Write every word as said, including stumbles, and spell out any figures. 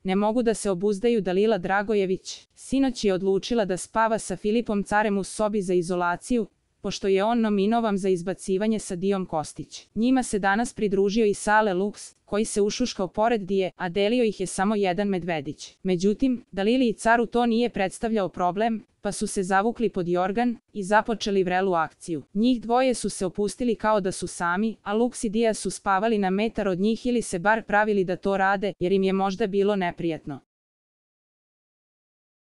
Ne mogu da se obuzdaju. Dalila Dragojević sinoć je odlučila da spava sa Filipom Carem u sobi za izolaciju, pošto je on nominovan za izbacivanje sa Dijom Kostić. Njima se danas pridružio i Sale Luks, koji se ušuškao pored Dije, a delio ih je samo jedan medvedić. Međutim, Dalili i Caru to nije predstavljao problem, pa su se zavukli pod jorgan i započeli vrelu akciju. Njih dvoje su se opustili kao da su sami, a Luks i Dija su spavali na metar od njih ili se bar pravili da to rade, jer im je možda bilo neprijatno.